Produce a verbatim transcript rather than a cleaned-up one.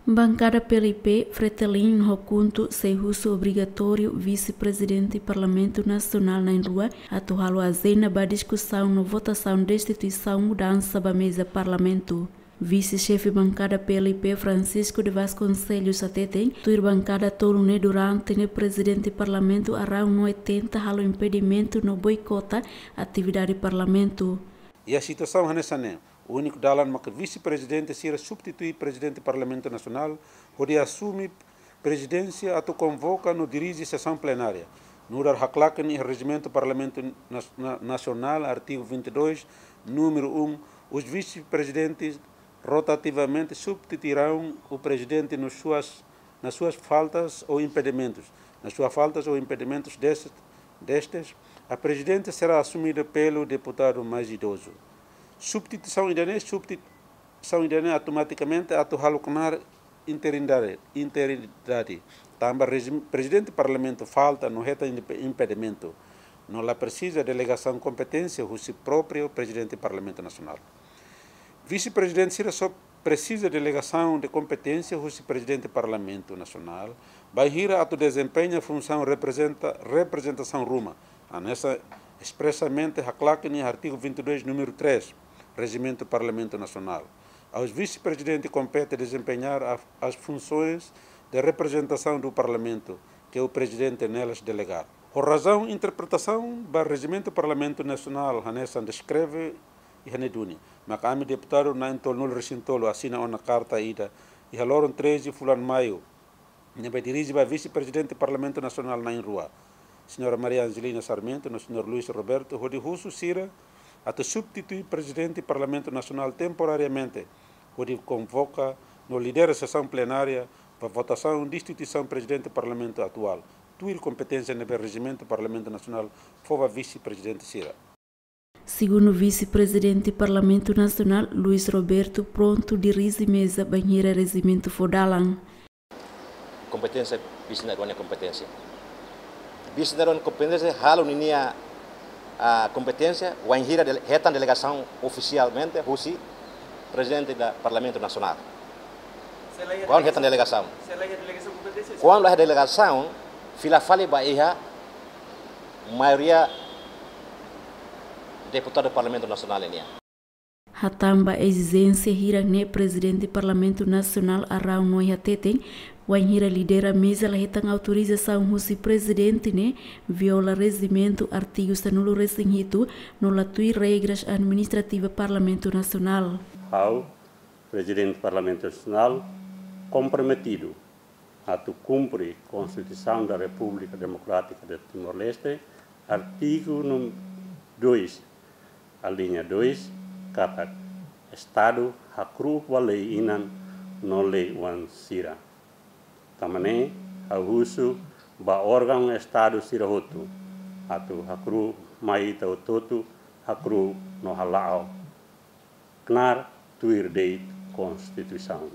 Bankada P L I P, Fretilin ho KHUNTO sei husu obrigatóriu Vise-Prezidente Parlamentu Nasionál na'in-rua atu halo ajenda ba diskusaun no votasaun destituisaun mudansa ba meza Parlamentu. Vise-Xefe Bankada P L I P, Francisco de Vasconcelos, hateten, tuir bankada tolu ne'e durante ne'e Prezidente Parlamentu Arão Noe tenta halo impedimentu no boikota atividade Parlamentu. Iha situasaun hanesan ne'e, úniku dalan maka vise-prezidente sira substitui Prezidente Parlamentu Nasionál hodi asume prezidénsia atu konvoka no dirije sesaun plenária. Nu'udar haklaken iha Rejimentu Parlamentu Nas-, Na-, Nasionál, artigu vinte e dois, númeru um, os vice-presidentes rotativamente substituirão o presidente nos suas, nas suas faltas ou impedimentos, nas suas faltas ou impedimentos destes, destes, a presidência será assumida pelo deputado mais idoso. Substituisaun ida-ne'e, substituisaun ida-ne'e automatikamente atu halo knaar interidade, interidade. Tanba rejim-, Prezidente Parlamentu falta no hetan impe-, impedimentu, no la presiza delegasaun kompeténsia husi própriu Prezidente Parlamentu Nasionál. Vise-prezidente sira só presiza delegasaun de kompeténsia husi Prezidente Parlamentu Nasionál, bainhira atu dezempeña funsaun reprezenta-, reprezentasaun ruma, hanesan espresamente haklaken iha artigu vinte e dois, númeru três, Rejimentu Parlamentu Nasionál. Aos vice-presidente compete desempenhar a, as funções de representação do Parlamento que o Presidente nelas delegar. Ho razaun interpretasaun ba Rejimentu Parlamentu Nasionál hanesan deskreve iha ne'e duni, maka ami deputadu na'in-tolunulu-resin-tolu asina ona karta ida iha loron treze fulan Maiu, ne'ebé dirije ba Vise-Prezidente Parlamentu Nasionál na'in-rua, Señora Maria Angelina Sarmento no Señor Luis Roberto, hodi husu sira atu substitui Prezidente Parlamentu Nasionál temporariamente, hodi konvoka no lidera sesaun plenária ba votasaun destituisaun Prezidente Parlamentu atuál, tuir kompeténsia ne'ebé Rejimentu Parlamentu Nasionál fó ba vise-prezidente sira. Segundu Vise-Prezidente Parlamentu Nasionál, Luis Roberto, prontu dirije meza bainhira rejimentu fó dalan. Kompeténsia, vise na'in-rua nia kompeténsia. Vise na'in-rua nia kompeténsia, halo ninia, ah, kompeténsia, wainhira dele-, hetan delegasaun ofisialmente husi Prezidente do Parlamentu Nasionál. Kuandu hetan delegasaun. Kuandu la iha delegasaun, fila fali ba iha maioria deputadu Parlamentu Nasionál nian. Hatán ba ezijénsia hirak-ne'e, Prezidente Parlamentu Nasionál Arão Noe hateten, wainhira lidera meza la hetan autorizasaun husi Prezidente ne'e viola rejimentu artigu sanulu-resin-hitu no la tuir regras administrativa Parlamentu Nasionál. Ha'u, Prezidente Parlamentu Nasionál, komprometidu atu kumpre Konstituisaun da Repúblika Demokrátika de Timor-Leste, artigu num-, dois, alínea dois, katak Estadu hakru'uk ba lei-inan no lei-oan sira. Tanba ne'e, ha'u husu ba órgaun Estadu sira hotu atu hakru'uk mai ita hotu-hotu, hakru'uk no hala'o knaar tuir de'it Konstituisaun.